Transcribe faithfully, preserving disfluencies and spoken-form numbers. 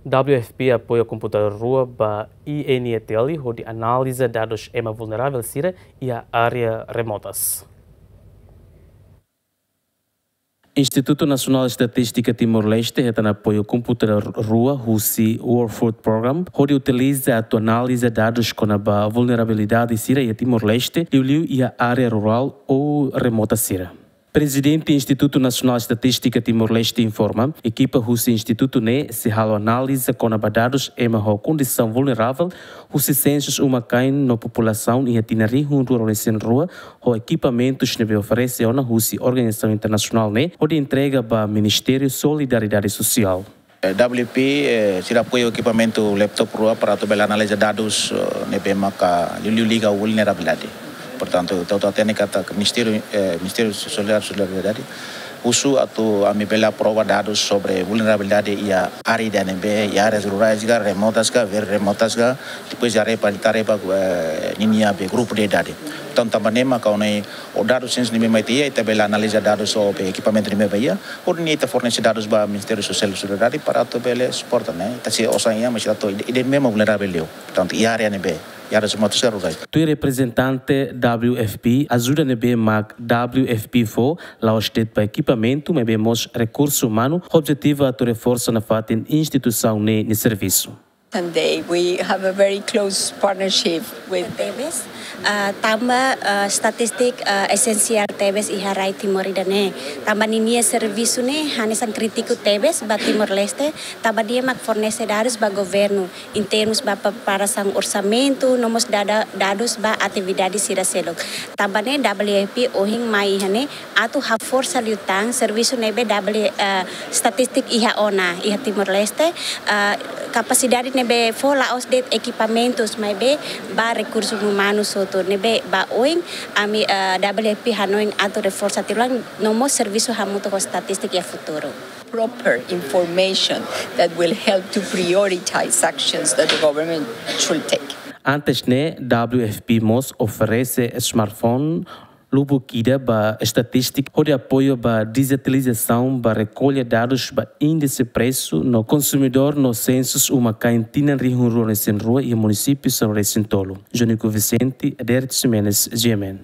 W F P apoia komputadór rua ba I N E T L hodi analiza dadus ema vulneravel sira iha área remotas. Institutu Nasionál Estatístika Timor-Leste hetan apoiu komputadór rua husi World Food Program hodi utiliza atu analiza dadus kona-ba vulnerabilidade sira iha Timor-Leste, liuliu iha área rurál ou remota sira. Prezidente Institutu Nasionál Estatístika Timor-Leste informa, ekipa husi institutu ne'e sei halo analiza kona-ba dadus ema ho kondisaun vulneravel husi sensus uma-kain no populasaun iha tinan rihun rua ruanulu-resin-rua, ho ekipamentus ne'ebé oferese ona husi organizasaun internasionál ne'e hodi entrega ba Ministériu Solidariedade Sosiál. Eh, W F P, eh, sira apoiu ekipamentu laptop rua para atu bele analiza dadus, eh, ne'ebé maka liuliu liga vulnerabilidade. Portantu, ita hotu hatene katak Ministériu, eh, Ministériu Solidar-, Solidariedade husu atu ami bele aprova dadus sobre vulnerabilidade iha área ida ne'ebé, iha áreas rurais ka, remotas ka, very remotas ka, depois iha área palitar ba, eh, ninia be grupu de idade. Entaun, tanba ne'e maka ohin ne'e, ho dadus sensus ne'ebé mai tiha, ita bele analiza dadus ho be ekipamentu ne'ebé ba iha, hodi nune'e ita fornese dadus ba Ministériu Sosiál Solidariedade para atu bele suporta, ne'e. Ita sei osan iha, mas ita atu ida, ida ne'ebé mak vulneravel liu. Portantu, iha área ne'ebé, iha áreas remotas ka rurais. Tuir reprezentante W F P, ajuda ne'ebé mak W F P fó la'ós de'it ba ekipamentu, maibé mós rekursu umanu, ho objetivu atu reforsa nafatin instituisaun ne'e nia servisu. Sunday, we have a very close partnership with tebes, ah, tanba, ah, estatístika, ah, esensiál tebes iha rai Timor ida-ne'e. Tanba ninia servisu ne'e hanesan krítiku tebes ba Timor-Leste, tanba nia mak fornese dadus ba governu, em termos ba preparasaun orsamentu, no mós dada-, dadus ba atividade sira seluk. Tanba ne'e W F P ohin mai iha ne'e, atu haforsa liután servisu ne'ebé W, eh, estatístika iha ona, iha Timor-Leste, eh, kapasidade ne'ebé fó la'ós de'it ekipamentus, maibé ba rekursu umanu hotu ne'ebé ba oin, ami, eh, W F P hanoin atu reforsa tiha ulang no mós servisu hamutuk ho estatístika iha futuru. Proper information that will help to prioritize actions that the government should take. Antes ne'e, W F P mós oferese smartphone lubuk ida ba estatístika hodi apoiu ba dijitalizasaun ba rekolla dadus ba índise presu no konsumidór no sensus uma-kain tinan rihun rua ruanulu-resin-rua iha munisípiu sanulu-resin-tolu. Jonico Vicente, Adérito Ximenes, G M N.